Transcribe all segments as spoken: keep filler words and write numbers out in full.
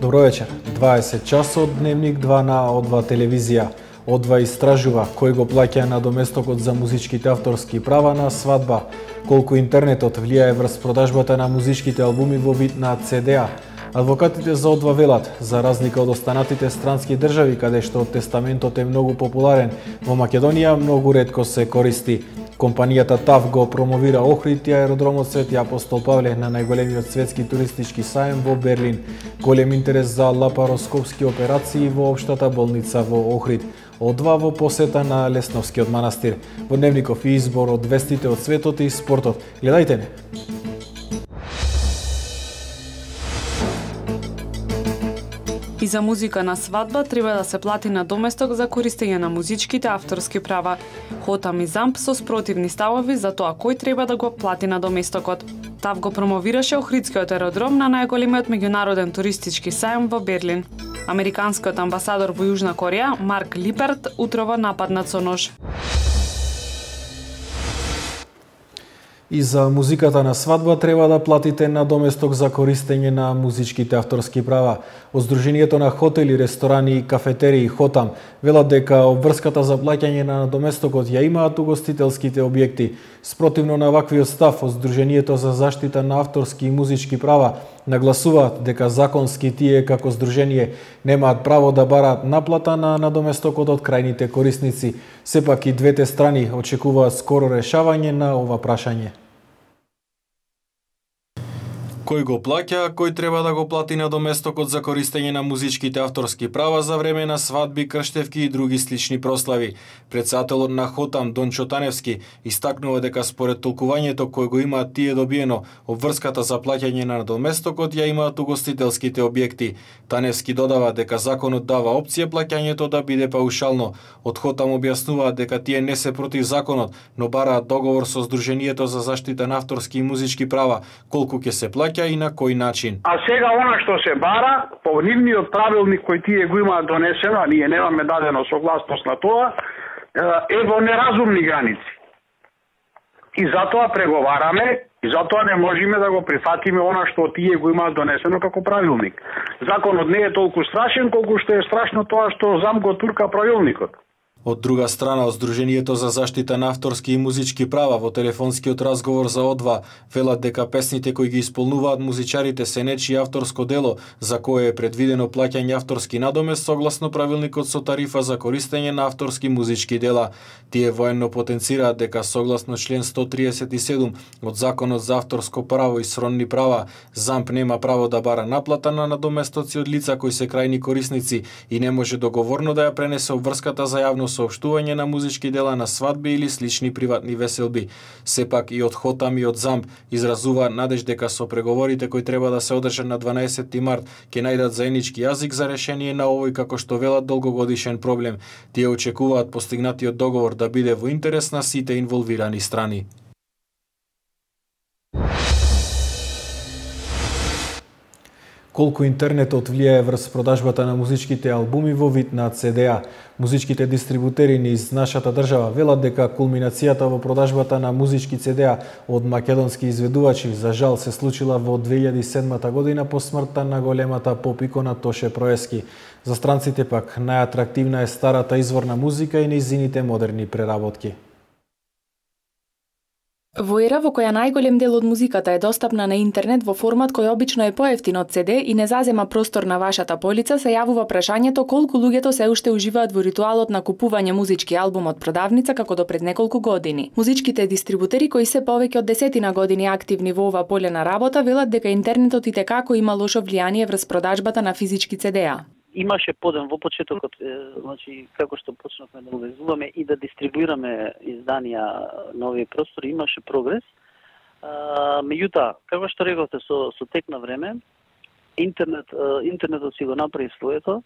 Добро вечер. дваесет часот, Дневник два на О два телевизија. О два истражува кој го плаќа надоместокот за музичките авторски права на свадба, колку интернетот влијае врз продажбата на музичките албуми во вид на Це Де А. Адвокатите за О два велат, за разлика од останатите странски држави каде што тестаментот е многу популарен, во Македонија многу ретко се користи. Компанијата ТАВ го промовира Охрид и аеродромот Свети Апостол Павле на најголемиот светски туристички сајм во Берлин. Голем интерес за лапароскопски операции во општата болница во Охрид. О два во посета на Лесновскиот манастир. Во Дневников и избор од вестите од светот и спортот. Гледајте не! И за музика на свадба треба да се плати надоместок за користење на музичките авторски права. Хотам и Замп со спротивни ставови за тоа кој треба да го плати надоместокот. ТАВ го промовираше Охридскиот аеродром на најголемиот меѓународен туристички сајм во Берлин. Американскиот амбасадор во Јужна Кореја, Марк Липерт, утрово нападнат со нож. И за музиката на свадба треба да платите надоместок за користење на музичките авторски права. Од Сдруженијето на хотели, ресторани и кафетерии Хотам велат дека обврската за плаќање на надоместокот ја имаат угостителските објекти. Спротивно на ваквиот став, од Сдруженијето за заштита на авторски и музички права нагласуваат дека законски тие како здружение немаат право да бараат наплата на надоместокот од крајните корисници. Сепак и двете страни очекуваат скоро решавање на ова прашање. Кој го плаќа, кој треба да го плати надоместокот за користење на музичките авторски права за време на свадби, крштевки и други слични прослави. Претседателот на Хотам Дончо Таневски истакнува дека според толкувањето кој го имаат тие добиено, обврската за плаќање на надоместокот ја имаат угостителските објекти. Таневски додава дека законот дава опција плаќањето да биде паушално. Од Хотам објаснуваат дека тие не се против законот, но бараат договор со Сдруженијето за заштита на авторски и музички права, колку ќе се плаќа и на кој начин. А сега она што се бара, по нивниот правилник кој тие го имаат донесено, а ние немаме дадено согласност на тоа, е во неразумни граници. И затоа преговараме, и затоа не можеме да го прифатиме она што тие го имаат донесено како правилник. Законот не е толку страшен колку што е страшно тоа што Зам го турка правилникот. Од друга страна, од Сдруженијето за заштита на авторски и музички права во телефонскиот разговор за О два велат дека песните кои ги исполнуваат музичарите се нечие авторско дело, за кое е предвидено плаќање авторски надомест согласно правилникот со тарифа за користење на авторски музички дела. Тие военно потенцираат дека согласно член сто триесет и седум од Законот за авторско право и сродни права, Замп нема право да бара наплата на надоместоци од лица кои се крајни корисници и не може договорно да ја пренесе обврската за јавно соопштување на музички дела на свадби или слични приватни веселби. Сепак и од Хотам и од Замп изразува надеж дека со преговорите кои треба да се одржат на дванаесетти март ќе најдат заеднички јазик за решение на овој, како што велат, долгогодишен проблем. Тие очекуваат постигнатиот договор да биде во интерес на сите инволвирани страни. Колку интернетот влијае врз продажбата на музичките албуми во вид на Це Де А. Музичките дистрибутери низ нашата држава велат дека кулминацијата во продажбата на музички Це Де А од македонски изведувачи за жал се случила во две илјади и седмата година по смртта на големата поп-икона Тоше Проески. За странците пак најатрактивна е старата изворна музика и нејзините модерни преработки. Во ера во која најголем дел од музиката е достапна на интернет во формат кој обично е поевтин од Це Де и не зазема простор на вашата полица, се јавува прашањето колку луѓето се уште уживаат во ритуалот на купување музички албум од продавница како до пред неколку години. Музичките дистрибутери кои се повеќе од десетина години активни во ова поле на работа велат дека интернетот и текако има лошо влијание врз продажбата на физички Це Де А. Имаше подем во почетокот, значи како што почнавме да увезуваме и да дистрибуираме изданија на овие простори, имаше прогрес. А, меѓутоа, како што рековте, со со тек на време, интернет интернетот си го направи своето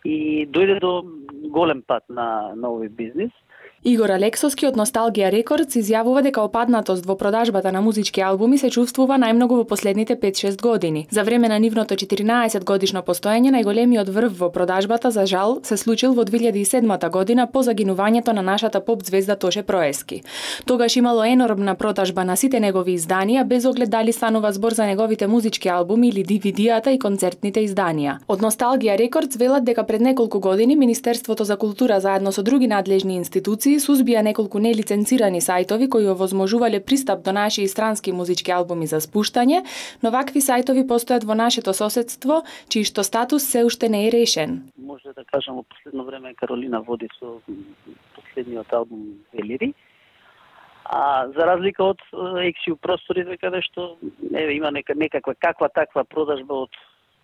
и дојде до голем пат на на овој бизнис Игор Алексовски од Носталгија Рекордс изјавува дека опаднатост во продажбата на музички албуми се чувствува најмногу во последните пет-шест години. За време на нивното четиринаесет годишно постоење, најголемиот врв во продажбата за жал се случил во две илјади и седма година по загинувањето на нашата поп звезда Тоше Проески. Тогаш имало енормна продажба на сите негови изданија, без оглед дали станува збор за неговите музички албуми или ди ви ди-ата и концертните изданија. Од Носталгија Рекордс велат дека пред неколку години Министерството за култура заедно со други надлежни институции сузбија неколку нелиценцирани сајтови кои овозможувале пристап до наши и странски музички албуми за спуштање, но вакви сајтови постојат во нашето соседство, чиј што статус се уште не е решен. Може да кажам, во последно време Каролина води со последниот албум Велири, а за разлика од Ексиу просторите каде што еве има нека, некаква каква таква продажба од,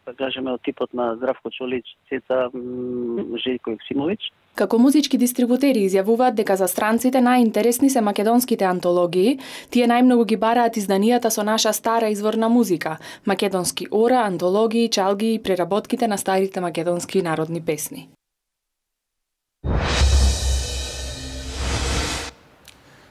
да кажеме, од типот на Здравко Чолич, Цеца, Желјко Ексимович. Како музички дистрибутери изјавуваат дека за странците најинтересни се македонските антологии, тие најмногу ги бараат изданијата со наша стара изворна музика, македонски ора, антологии, чалги и преработките на старите македонски народни песни.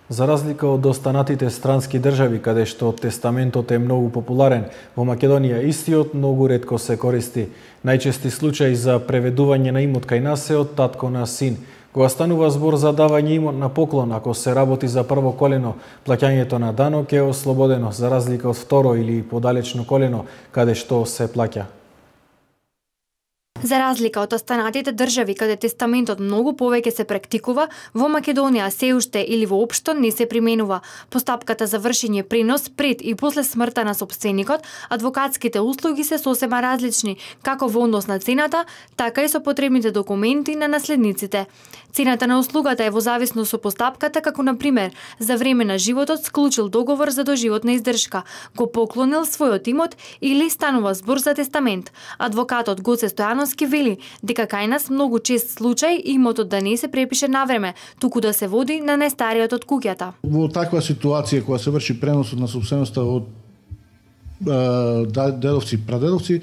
За разлика од останатите странски држави, каде што тестаментот е многу популарен, во Македонија истиот многу ретко се користи. Најчести случаи за преведување на имот кај нас е од татко на син. Кога станува збор за давање имот на поклон, ако се работи за прво колено, плаќањето на данок е ослободено, за разлика од второ или подалечно колено, каде што се плаќа. За разлика од останатите држави каде тестаментот многу повеќе се практикува, во Македонија се уште или воопшто не се применува. Постапката за вршење пренос пред и после смртта на сопственикот, адвокатските услуги се сосема различни, како во однос на цената, така и со потребните документи на наследниците. Цената на услугата е во зависност со постапката, како на пример, за време на животот склучил договор за доживотна издршка, го поклонил својот имот или станува збор за тестамент. Адвокатот Гоце Стојановски вели дека кај нас многу чест случај имотот да не се препише на време, туку да се води на најстариот од куќата. Во таква ситуација кога се врши преносот на сопственоста од е, дедовци и прадедовци,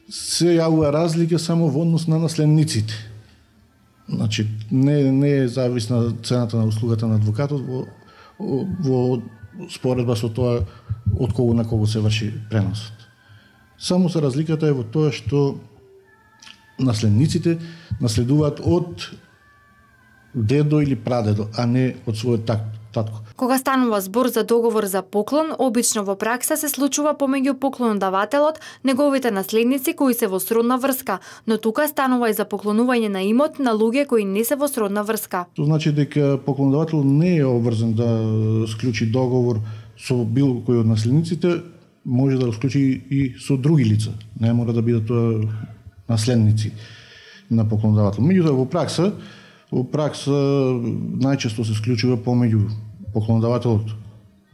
се јавува разлика само во однос на наследниците. Значи, не, не е зависна цената на услугата на адвокатот во, во споредба со тоа од кого на кого се врши преносот. Само се разликата е во тоа што наследниците наследуваат од дедо или прадедо, а не од својот татко. Кога станува збор за договор за поклон, обично во пракса се случува помеѓу поклонодавателот, неговите наследници кои се во сродна врска, но тука станува и за поклонување на имот на луѓе кои не се во сродна врска. Тоа значи дека поклонодавател не е обврзан да склучи договор со било кој од наследниците, може да го склучи и со други лица. Не мора да бидат тоа наследници на поклонодавател. Меѓутоа во пракса, во пракса најчесто се склучува помеѓу поклонодавателот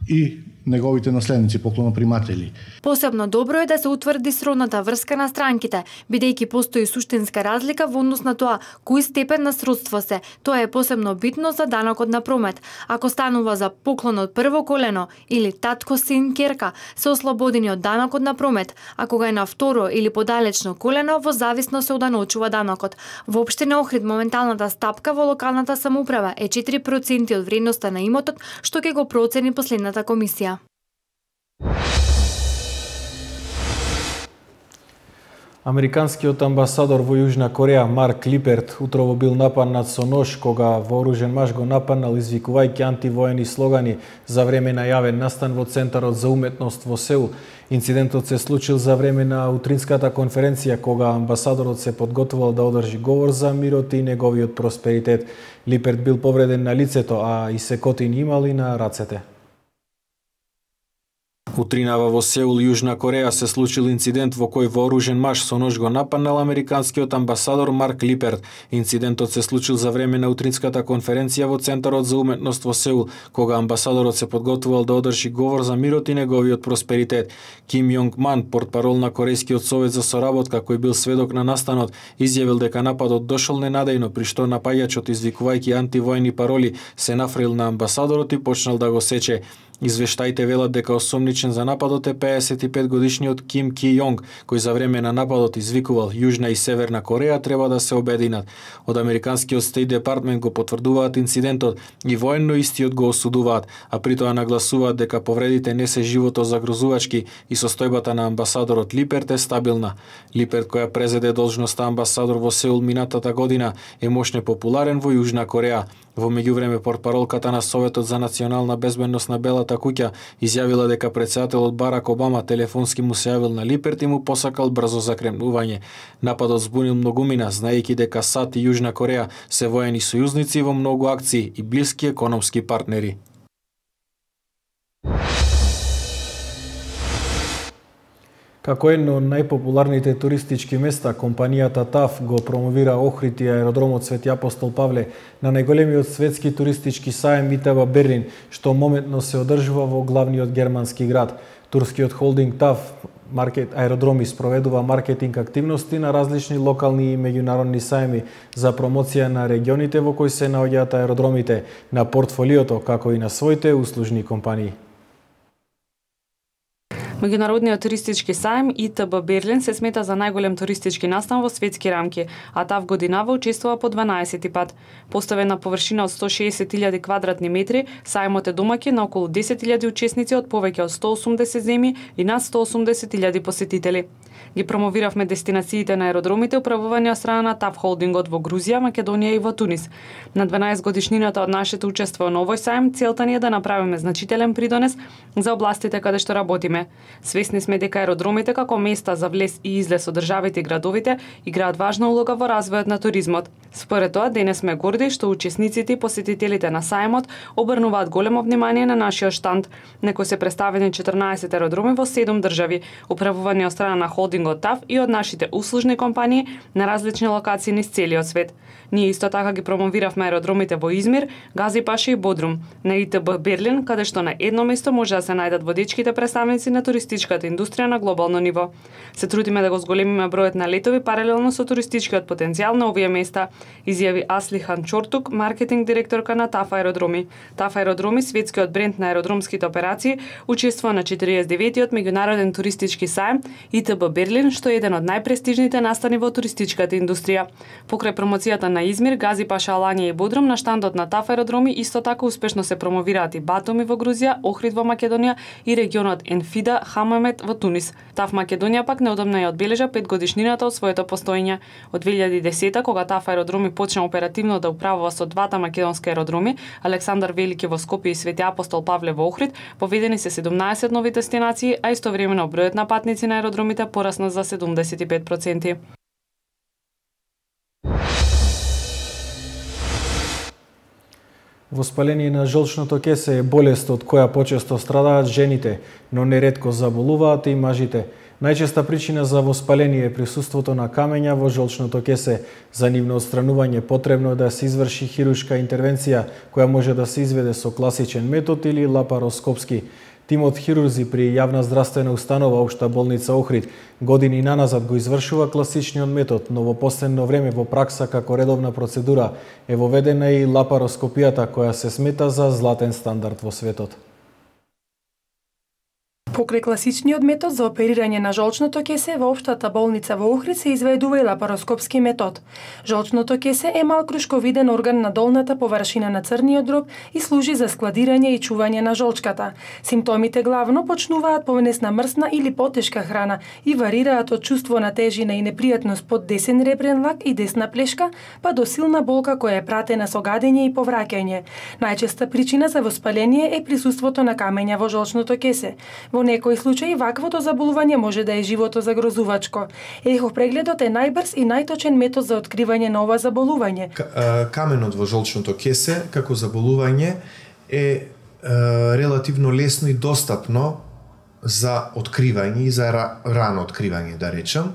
и неговите наследници, поклоноприматели. Посебно добро е да се утврди сродната врска на странките, бидејќи постои суштинска разлика во однос на тоа кој степен на сродство се. Тоа е посебно битно за данокот на промет. Ако станува за поклон од прво колено или татко, син, ќерка, се ослободени од данокот на промет, а кога е на второ или подалечно колено, во зависност се оданочува данокот. Во општина Охрид моменталната стапка во локалната самоуправа е четири проценти од вредноста на имотот, што ќе го процени последната комисија. Американскиот амбасадор во Јужна Кореја Марк Липерт утрово бил нападнат со нож кога вооружен маж го нападнал извикувајќи антивоени слогани за време на јавен настан во Центарот за уметност во Сеул. Инцидентот се случил за време на утринската конференција кога амбасадорот се подготвувал да одржи говор за мирот и неговиот просперитет. Липерт бил повреден на лицето, а и секотини имал и на рацете. Утринава во Сеул, Јужна Кореја, се случил инцидент во кој вооружен маж со нож го нападнал американскиот амбасадор Марк Липерт. Инцидентот се случил за време на утринската конференција во Центарот за уметност во Сеул, кога амбасадорот се подготвувал да одржи говор за мирот и неговиот просперитет. Ким Јонг Ман, портпарол на Корејскиот совет за соработка, кој бил сведок на настанот, изјавил дека нападот дошол ненадејно, при што напаѓачот, извикувајќи антивојни пароли, се нафрил на амбасадорот и почнал да го сече. Извештаите велат дека осомничен за нападот е пеесет и пет годишниот Ким Ки Јонг, кој за време на нападот извикувал Јужна и Северна Кореја треба да се обединат. Од американскиот Стейт Департмент го потврдуваат инцидентот и военно истиот го осудуваат, а при тоа нагласуваат дека повредите не се живото загрозувачки и состојбата на амбасадорот Липерт е стабилна. Липерт, која презеде должноста амбасадор во Сеул минатата година, е мощно популарен во Јужна Кореја. Во меѓувреме, портпаролката на Советот за национална безбедност на Белата куќа изјавила дека претседателот Барак Обама телефонски му се јавил на Липерт и му посакал брзо закренување. Нападот збунил многумина, знаејќи дека САД и Јужна Кореја се воени сојузници во многу акции и блиски економски партнери. Како едно од најпопуларните туристички места, компанијата ТАФ го промовира Охрид и аеродромот Свети Апостол Павле на најголемиот светски туристички саем И Т Б Берлин, што моментно се одржува во главниот германски град. Турскиот холдинг ТАФ Маркет аеродроми спроведува маркетинг активности на различни локални и меѓународни саеми за промоција на регионите во кои се наоѓаат аеродромите, на портфолиото, како и на своите услужни компании. Меѓународниот туристички саем И Т Б Берлин се смета за најголем туристички настан во светски рамки, а ТАФ годинава учествува по дванаесети пат. Поставен на површина од сто и шеесет илјади квадратни метри, саемот е домаќин на околу десет илјади учесници од повеќе од сто и осумдесет земји и над сто и осумдесет илјади посетители. Ги промовиравме дестинациите на аеродромите управувани од страна на ТАФ холдингот во Грузија, Македонија и во Тунис. На дванаесет годишнината од нашето учество на овој саем, целта ни е да направиме значителен придонес за областите каде што работиме. Свесни сме дека аеродромите како места за влез и излез од државите и градовите играат важна улога во развојот на туризмот. Според тоа, денес сме горди што учесниците и посетителите на саемот обрнуваат големо внимание на нашиот штанд. Некои се представени четрнаесет аеродроми во седум држави, управувани од страна на холдингот ТАФ и од нашите услужни компании на различни локации низ целиот свет. Ние исто така ги промовиравме аеродромите во Измир, Газипаша и Бодрум, на И Т Б Берлин, каде што на едно место може да се најдат водечките представници на туристичката индустрија на глобално ниво. Се трудиме да го зголемиме бројот на летови паралелно со туристичкиот потенцијал на овие места, изјави Аслихан Чортук, маркетинг директорка на ТАФ аеродроми. ТАФ аеродроми, светскиот бренд на аеродромските операции, учествува на четиридесет и деветиот меѓународен туристички саем И Т Б Берлин, што е еден од најпрестижните настани во туристичката индустрија. Покрај промоцијата на Измир, Газипаша, Аланија и Бодрум, на штандот на ТАФ аеродроми исто така успешно се промовираат и Батуми во Грузија, Охрид во Македонија и регионот Енфида, Хамамет во Тунис. ТАФ Македонија пак неодамна ја одбележа пет годишнината од своето постоење. Од две илјади и десета, кога ТАФ аеродроми почна оперативно да управува со двата македонски аеродроми, Александар Велики во Скопје и Свети Апостол Павле во Охрид, поведени се седумнаесет нови дестинации, а истовремено бројот на патници на аеродромите порасна за седумдесет и пет проценти. Воспаление на жолчното кесе е болест од која почесто страдаат жените, но неретко заболуваат и мажите. Најчеста причина за воспаление е присуството на камења во жолчното кесе. За нивно отстранување потребно е да се изврши хируршка интервенција, која може да се изведе со класичен метод или лапароскопски. Тимот хирурзи при јавна здравствена установа Општа болница Охрид години наназад го извршува класичниот метод, но во последно време во пракса како редовна процедура е воведена и лапароскопијата, која се смета за златен стандард во светот. Покрај класичниот метод за оперирање на жолчното кесе во Општата болница во Охрид се изведува и лапароскопски метод. Жолчното кесе е мал крушковиден орган на долната површина на црниот дроб и служи за складирање и чување на жолчката. Симптомите главно почнуваат повнесна мрсна или потешка храна и варираат од чувство на тежина и непријатност под десен ребрен лак и десна плешка, па до силна болка која е пратена со гадење и повраќање. Најчеста причина за воспаление е присуството на камења во жолчното кесе. Во некои случаи ваквото заболување може да е живото загрозувачко. Ехопрегледот е најбрз и најточен метод за откривање на ова заболување. Каменот во жолчното кесе како заболување е релативно лесно и достапно за откривање и за рано откривање, да речам,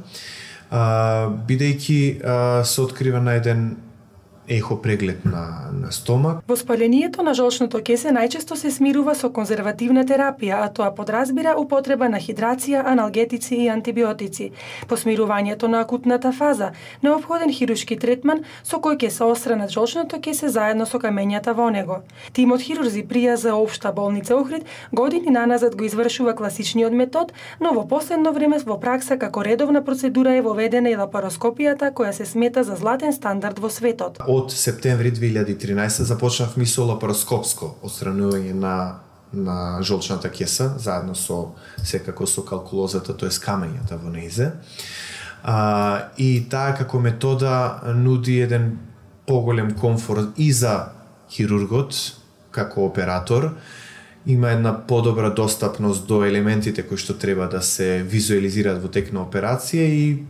бидејќи се открива на еден ехо преглед на, на стомак. Воспалението на жолчното кесе најчесто се смирува со конзервативна терапија, а тоа подразбира употреба на хидрација, аналгетици и антибиотици. По смирувањето на акутната фаза, неопходен хируршки третман со кој ќе се отстранат жолчното кесе заедно со камењата во него. Тимот хирурзи при Ја З Општа болница Охрид години наназад го извршува класичниот метод, но во последно време во пракса како редовна процедура е воведена и лапароскопијата, која се смета за златен стандард во светот. Од септември две илјади и тринаесетта започнавме со лапароскопско отстранување на на жолчната кеса, заедно со секако со калкулозата, тоест камењата во нејзе. А, и таа како метода нуди еден поголем комфорт и за хирургот како оператор, има една подобра достапност до елементите кои што треба да се визуализираат во тек на операција и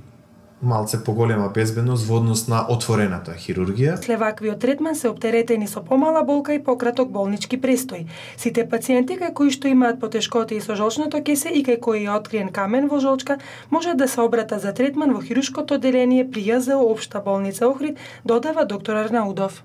малце поголема безбедност во однос на отворената хирургија. След ваквиот третман се оптеретени со помала болка и пократок болнички престој. Сите пациенти кај кои што имаат потешкоти со жолчното кесе и кај кои е откриен камен во жолчка, може да се обратат за третман во хируршкото одделение при Ја З Општа болница Охрид, додава доктор Арнаудов.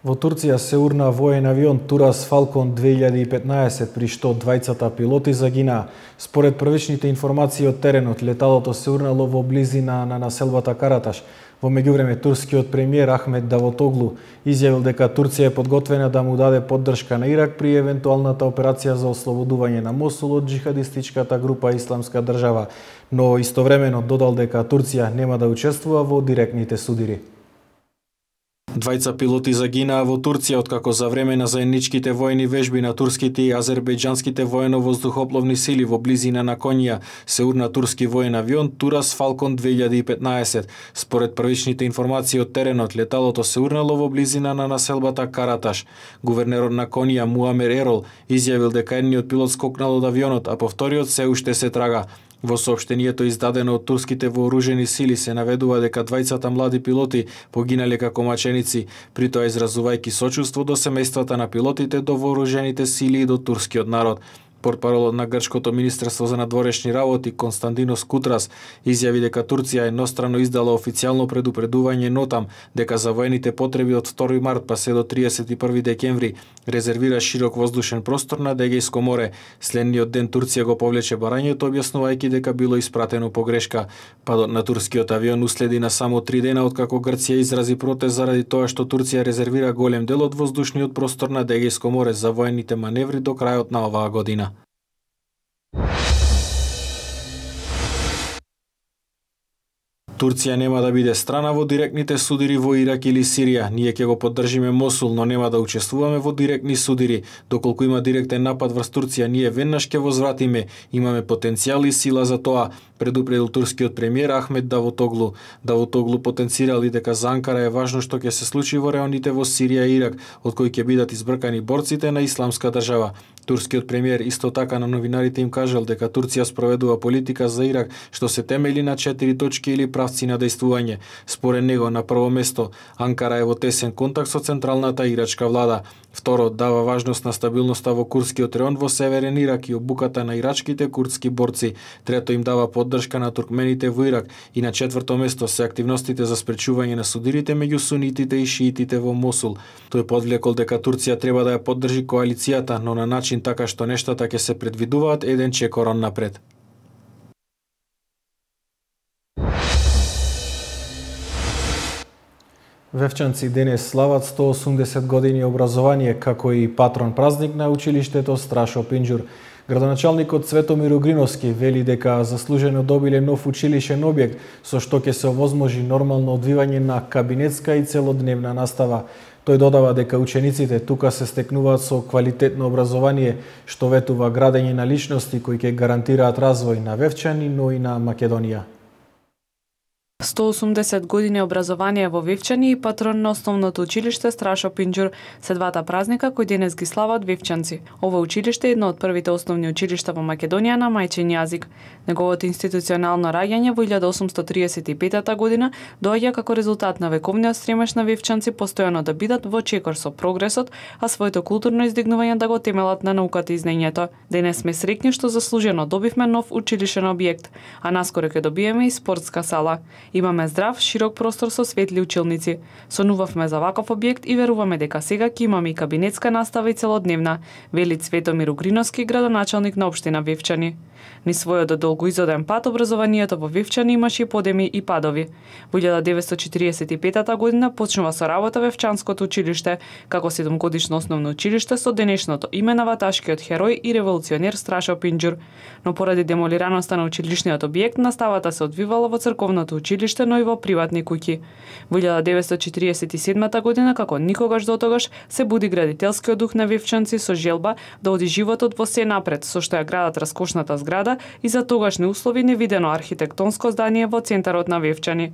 Во Турција се урна воен авион Турас Falcon две илјади и петнаесет, при што двајцата пилоти загинаа. Според првичните информации од теренот, леталото се урнало во близина на населбата Караташ. Во меѓувреме, турскиот премиер Ахмед Давутоглу изјавил дека Турција е подготвена да му даде поддршка на Ирак при евентуалната операција за ослободување на Мосул од джихадистичката група Исламска држава, но истовремено додал дека Турција нема да учествува во директните судири. Двајца пилоти загинаа во Турција откако за време на заедничките воени вежби на турските и азербејџанските воено-воздухопловни сили во близина на Конија се урна турски воен авион Турас Falcon две илјади и петнаесет. Според првичните информации од теренот, леталото се урнало во близина на населбата Караташ. Гувернерот на Конија Муамер Ерол изјавил дека едниот пилот скокнал од авионот, а по вториот се уште се трага. Во соопштението издадено од турските вооружени сили се наведува дека двајцата млади пилоти погинале како маченици, при тоа изразувајќи сочувство до семејствата на пилотите, до вооружените сили и до турскиот народ. Портпаролот на Грчкото министерство за надворешни работи Константинос Кутрас изјави дека Турција еднострано издала официјално предупредување нотам дека за воените потреби од втори март па се до триесет и први декември резервира широк воздушен простор над Егејско море. Следниот ден Турција го повлече барањето, објаснувајќи дека било испратено погрешка. Падот на турскиот авион уследи на само три дена откако Грција изрази протест заради тоа што Турција резервира голем дел од воздушниот простор над Егејско море за воените маневри до крајот на оваа година. Турција нема да биде страна во директните судири во Ирак или Сирија. Ние ќе го поддржиме Мосул, но нема да учествуваме во директни судири. Доколку има директен напад врз Турција, ние веднаш ќе возвратиме. Имаме потенцијал и сила за тоа, предупредил турскиот премиер Ахмед Давутоглу. Давутоглу потенцирал и дека за Анкара е важно што ќе се случи во районите во Сирија и Ирак, од кои ќе бидат избркани борците на Исламска држава. Турскиот премиер исто така на новинарите им кажал дека Турција спроведува политика за Ирак што се темели на четири точки или правци на дејствување. Според него, на прво место, Анкара е во тесен контакт со централната ирачка влада. Второ, дава важност на стабилноста во курдскиот реон во северен Ирак и обуката на ирачките курдски борци. Трето, им дава поддршка на туркмените во Ирак. И на четврто место се активностите за спречување на судирите меѓу сунитите и шиитите во Мосул. Тој подвлекол дека Турција треба да ја поддржи коалицијата, но на начин така што нештата ќе се предвидуваат еден чекорон напред. Вевчанци денес слават сто осумдесет години образование, како и патрон празник на училиштето Страшо Пинџур. Градоначалникот Светомир Угриновски вели дека заслужено добиле нов училишен објект, со што ќе се овозможи нормално одвивање на кабинетска и целодневна настава. Тој додава дека учениците тука се стекнуваат со квалитетно образование, што ветува градење на личности кои ќе гарантираат развој на Вевчани, но и на Македонија. сто осумдесет години образование во Вивчани и патрон на основното училиште Страшо Пинџур се двата празника кои денес ги слават вивчанци. Ова училиште е едно од првите основни училишта во Македонија на мајчин јазик. Неговото институционално раѓање во илјада осумстотиресет и пета година доаѓа како резултат на вековниот стремеж на вивчанци постојано да бидат во чекор со прогресот, а своето културно издигнување да го темелат на науката и знаењето. Денес сме среќни што заслужено добивме нов училишен објект, а наскоро ќе добиеме и спортска сала. Имаме здрав, широк простор со светли училници. Сонувавме за ваков објект и веруваме дека сега ќе имаме и кабинетска настава и целодневна, вели Цветомир Угриновски, градоначалник на општина Вивчани. Ни својот долгоизоден пат образованието во Вивчани имаше и подеми и падови. Во илјада деветстотини четиридесет и пета година почнува со работа Вевчанското училиште, како седумгодишно основно училиште со денешното име на ваташкиот херој и револуционер Страшо Пинџур. Но поради демолираноста на училишниот објект, наставата се одвивала во црковното училиште, но и во приватни куќи. Во илјада деветстотини четиридесет и седма година, како никогаш дотогаш, се буди градителскиот дух на вивчанци со желба да оди животот во се напред, со што ја градат раскошната зграда и за тогашни услови невидено архитектонско здание во центарот на Вивчани.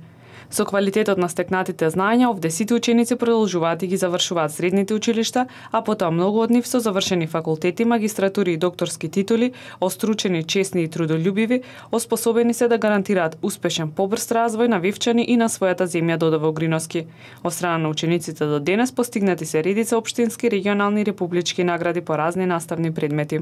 Со квалитетот на стекнатите знаења, овде сите ученици продолжуваат и ги завршуваат средните училишта, а потоа многу од нив со завршени факултети, магистратури и докторски титули, остручени, честни и трудолюбиви, оспособени се да гарантираат успешен побрз развој на Вивчани и на својата земја, додава Угриновски. Од страна на учениците до денес постигнати се редица општински, регионални и републички награди по разни наставни предмети.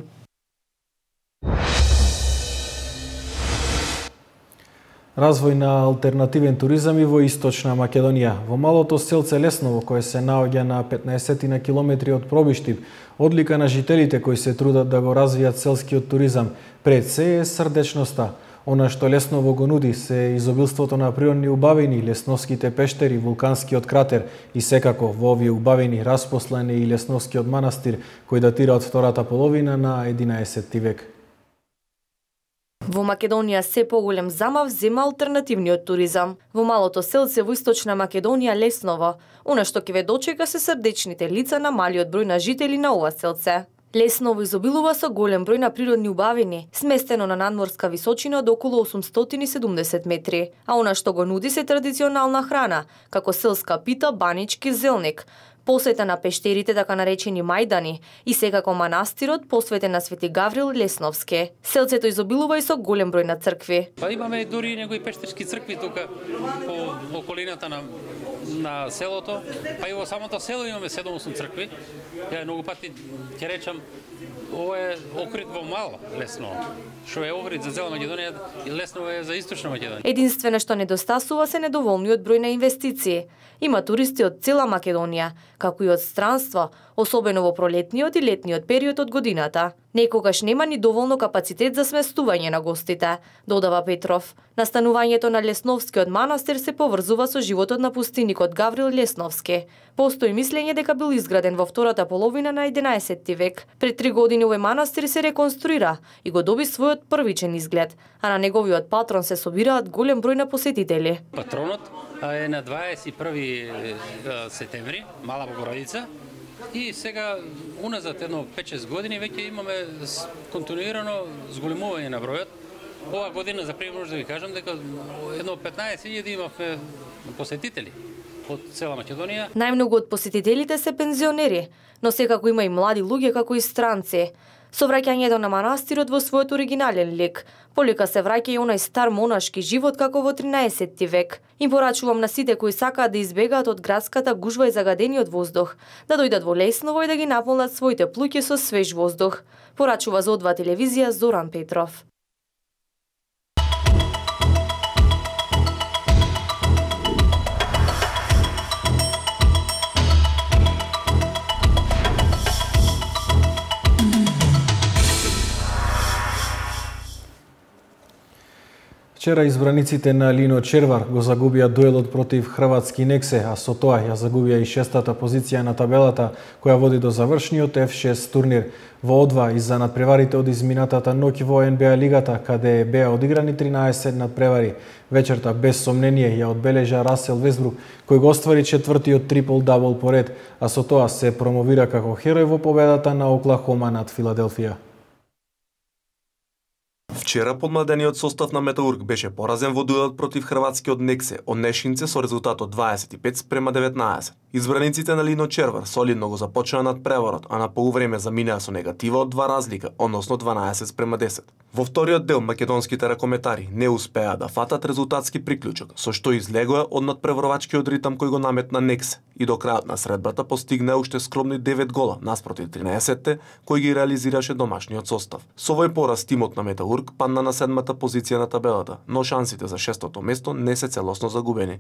Развој на алтернативен туризам и во Источна Македонија. Во малото селце Лесново, кое се наоѓа на петнаесет на километри од Пробиштип, одлика на жителите кои се трудат да го развијат селскиот туризам, пред се е срдечноста. Она што Лесново го нуди се изобилството на природни убавини, лесновските пештери, вулканскиот кратер и секако во овие убавини распослан е и Лесновскиот манастир, кој датира од втората половина на единаесетти век. Во Македонија се поголем замав зема алтернативниот туризам. Во малото селце во Источна Македонија Лесново, она што ќе ве дочека се срдечните лица на малиот број на жители на ова селце. Лесново изобилува со голем број на природни убавини, сместено на надморска височина од околу осумстотини и седумдесет метри, а она што го нуди се традиционална храна, како селска пита, банички, зелник, посета на пештерите, така наречени мајдани, и секако манастирот посветен на Свети Гаврил Лесновски. Селцето изобилува и со голем број на цркви. Па имаме дури некои пештерски цркви тука по околината на на селото, па и во самото село имаме седум-осум цркви. Ја многу пати ќе речам, ова е окрит во мало Лесново. Што е окрит за цела Македонија, и Лесново е за Источна Македонија. Единствено што недостасува се недоволниот број на инвестиции. Има туристи од цела Македонија, како и од странство, особено во пролетниот и летниот период од годината. Некогаш нема ни доволно капацитет за сместување на гостите, додава Петров. Настанувањето на Лесновскиот манастир се поврзува со животот на пустиникот Гаврил Лесновски. Постои мислење дека бил изграден во втората половина на единаесетти век. Пред три години овој манастир се реконструира и го доби својот првичен изглед, а на неговиот патрон се собираат голем број на посетители. Патронот е на дваесет и први септември, Мала Богородица. И сега, уназад едно пет-шест години, веќе имаме континуирано зголемување на бројот. Ова година, за пример, може да ви кажам дека едно петнаесет илјади имавме посетители од цела Македонија. Најмногу од посетителите се пензионери, но секако има и млади луѓе како и странци. Со враќањето на манастирот во својот оригинален лик, полека се враќа и онај стар монашки живот како во тринаесетти век. Им порачувам на сите кои сакаат да избегаат од градската гужва и загадениот воздух, да дојдат во Лесново и да ги наполнат своите плуќи со свеж воздух. Порачува за О два телевизија Зоран Петров. Вчера избраниците на Лино Червар го загубија дуелот против хрватски Нексе, а со тоа ја загубија и шестата позиција на табелата, која води до завршниот еф шест турнир. Во О два, изза надпреварите од изминатата ноќ во Ен Би А лигата, каде беа одиграни тринаесет надпревари. Вечерта без сомнение ја одбележа Расел Весбрук, кој го оствари четвртиот трипл-дабл поред, а со тоа се промовира како херој во победата на Оклахома над Филаделфија. Вчера подмладениот состав на Металург беше поразен во дуелот против хрватскиот Нексе од Нешинце со резултат од дваесет и пет спрема деветнаесет. Избраниците на Лино Червар солидно го започнаа над преварот, а на полувреме заминаа со негатива од два разлика, односно дванаесет спрема десет. Во вториот дел македонските ракометари не успеа да фатат резултатски приклучок, со што излегоа од надпреварувачкиот ритам кој го наметна Нексе и до крајот на средбата постигнаа уште скромни девет гола наспроти тринаесетте кои ги реализираше домашниот состав. Со овој пораз тимот на Металург падна на седмата позиција на табелата, но шансите за шестото место не се целосно загубени.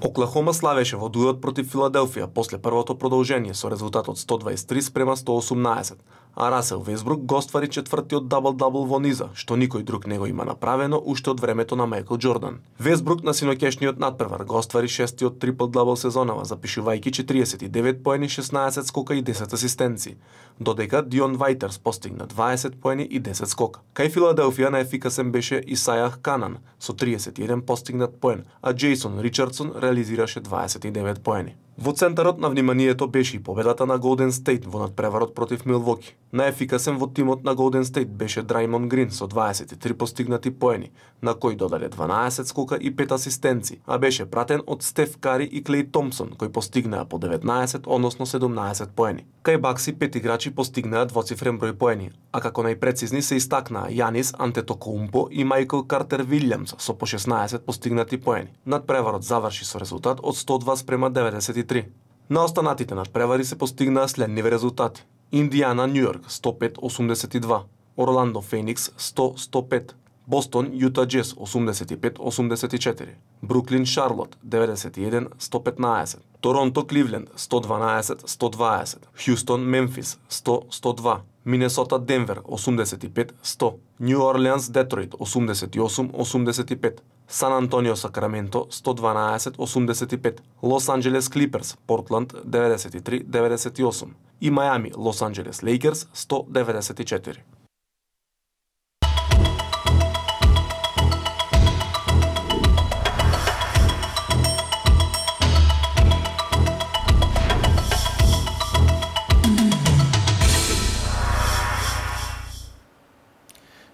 Оклахома славеше во дуелот против Филаделфија после првото продолжение со резултат од сто дваесет и три спрема сто осумнаесет, а Расел Весбрук го оствари четвртиот дабл-дабл во низа, што никој друг не го има направено уште од времето на Мајкл Џордан. Весбрук на синоќешниот надпревар го оствари шестиот трипл-дабл сезонава, запишувајќи четириесет и девет поени, шеснаесет скока и десет асистенции, додека Дион Вајтерс постигна дваесет поени и десет скока. Кај Филаделфија најефикасен беше Исајах Канан со триесет и еден постигнат поен, а Џејсон Ричардсон реализираше дваесет и девет поени. Во центарот на вниманието беше и победата на Голден Стейт во надпреварот против Милвоки. Најефикасен во тимот на Голден Стейт беше Драймон Грин со дваесет и три постигнати поени, на кој додаде дванаесет скока и пет асистенции, а беше пратен од Стеф Кари и Клеј Томпсон, кои постигнаа по деветнаесет, односно седумнаесет поени. Кај Бакси пет играчи постигнаа двоцифрен број поени, а како најпрецизни се истакнаа Јанис Антетокоумпо и Мајкл Картер Вилјамс со по шеснаесет постигнати поени. Надпреварот заврши со резултат од сто два спрема деветдесет и три. На останатите надпревари се постигнаа следниве резултати: Индијана Њујорк сто пет осумдесет и два, Орландо Феникс сто сто пет, Бостон Јута Џез осумдесет и пет осумдесет и четири, Бруклин Шарлот деветдесет и еден сто петнаесет, Торонто Кливленд сто дванаесет сто дваесет, Хјустон Мемфис сто сто два, Минесота Денвер осумдесет и пет сто, Њу Орлеанс Детройт осумдесет и осум осумдесет и пет, Сан Антонио Сакраменто сто дванаесет осумдесет и пет, Лос Анџелес Клиперс Портланд деветдесет и три деветдесет и осум и Мајами Лос Анџелес Лейкерс сто деветдесет и четири.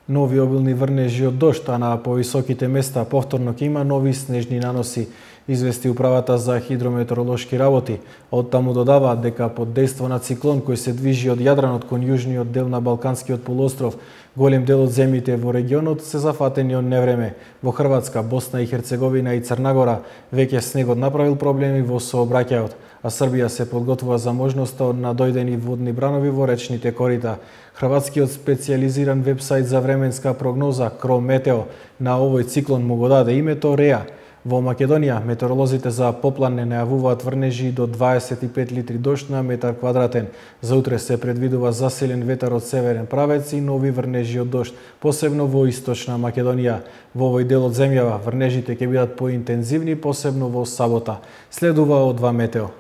Нови обилни врнежи од дожд, а на повисоките места повторно ќе има нови снежни наноси, извести управата за хидрометеоролошки работи. Од таму додаваат дека под дејство на циклон кој се движи од Јадранот кон јужниот дел на Балканскиот полуостров, голем дел од земјите во регионот се зафатени од невреме. Во Хрватска, Босна и Херцеговина и Црна Гора веќе снегот направил проблеми во сообраќајот, а Србија се подготвува за можноста од надојдени водни бранови во речните корита. Хрватскиот специјализиран вебсайт за временска прогноза Крометео на овој циклон му го даде името Реа. Во Македонија метеоролозите за поплан не најавуваат врнежи до дваесет и пет литри дожд на метар квадратен. За утре се предвидува засилен ветар од северен правец и нови врнежи од дожд, посебно во источна Македонија. Во овој дел од земјава врнежите ќе бидат поинтензивни, посебно во сабота. Следува од два метео.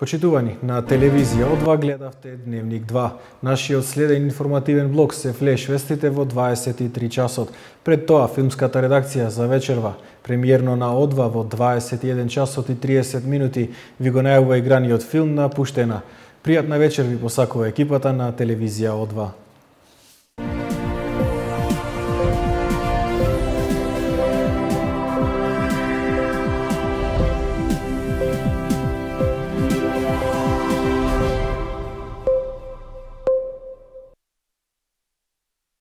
Почитувани, на телевизија О два гледавте Дневник два. Нашиот следен информативен блок се флеш вестите во дваесет и три часот. Пред тоа филмската редакција за вечерва. Премиерно на О два во дваесет и еден часот и триесет минути ви го најавува играниот филм на Пуштена. Пријатна вечер ви посакува екипата на телевизија О два.